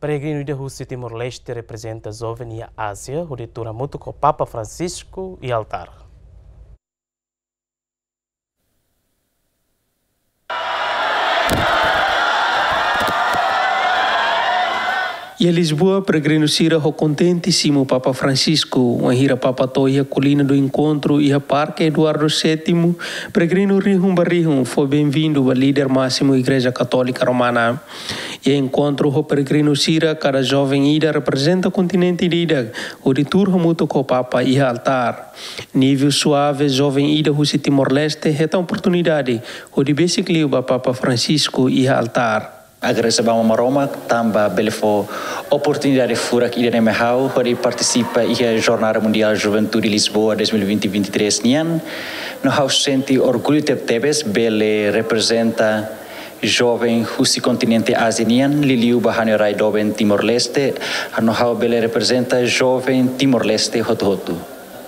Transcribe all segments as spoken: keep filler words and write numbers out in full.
Peregrinu ida husi Timor-Leste reprezenta joven iha Ázia, hodi tuur hamutuk ho Papa Francisco iha altár. Iha Lisboa, peregrinu sira ho kontente simu Papa Francisco, wainhira Papa to'o iha Colina do Encontro, iha Parke Eduardo Sétimo, peregrinu rihun ba rihun fó benvindu ba líder másimu Igreja Katólika Romana. Iha enkontru ho peregrinu sira, kada joven ida reprezenta kontinente ida-idak, hodi tuur hamutuk ho Papa iha altár. Nivel Suave, joven ida husi Timor-Leste, hetan oportunidade hodi besik liu ba Papa Francisco iha altár. Agradese ba Aman Maromak tanba bele fó oportunidade furak ida-ne'e mai ha'u hodi partisipa iha Jornada Mundiál Juventude Lisboa dois mil e vinte, vinte e três nian. No ha'u sente orgullu tebetebes bele reprezenta joven husi kontinente Ázia nian, liuliu ba ha'u-nia rai doben Timor-Leste, no ha'u bele reprezenta joven Timor-Leste hotu-hotu.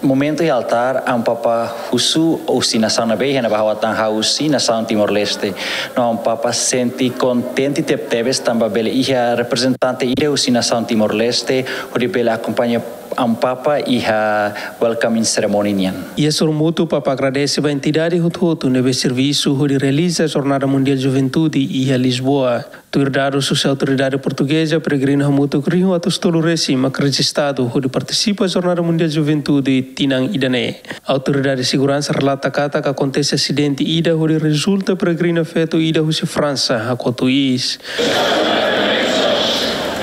Momentu iha altár, Amu Papa husu husi nasaun ne'ebé iha ne'ebá ha'u atan, ha'u husi nasaun Timor-Leste. No Amu Papa sente kontente tebetebes tanba bele iha reprezentante ida husi nasaun Timor-Leste, hodi bele akompaña Amu Papa iha welcoming ceremony nian. Iha sorumutu, Papa agradese ba entidade hotu-hotu ne'ebé servisu hodi realiza Jornada Mundiál Juventude iha Lisboa. Tuir dadus husi autoridade portugeza, peregrinu hamutuk rihun atus tolu resin mak rejistadu hodi partisipa Jornada Mundiál Juventude tinan ida-ne'e. Autoridade seguransa relata katak akontese asidente ida hodi rezulta peregrina feto ida husi Fransa hakotu iis.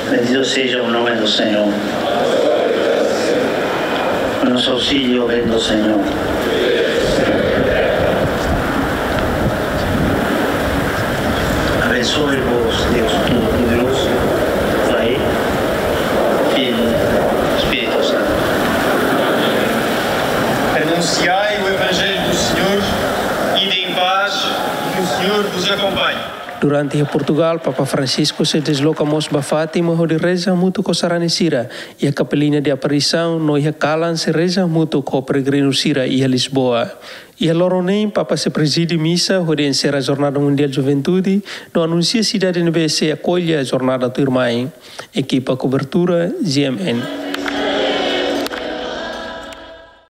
Bendito seja o nome do Senhor. Nosso auxílio vem do Senhor. Abençoe-vos, Deus Todo-Poderoso, Pai, Filho, Espírito Santo. Anunciai o Evangelho do Senhor, ide em paz, que o Senhor vos acompanhe. Durante iha Portugal, Papa Francisco sei desloka mós ba Fátima hodi reza hamutuk ho sarani sira iha Capelina de Aparição, no iha kalan sei reza hamutuk ho peregrinu sira iha Lisboa. Iha loron neen, Papa sei prezide misa hodi enserra Jornada Mundiál Juventude, no anunsia sidade ne'ebé sei akolla jornada tuirmai. Ekipa kobertura, G M N.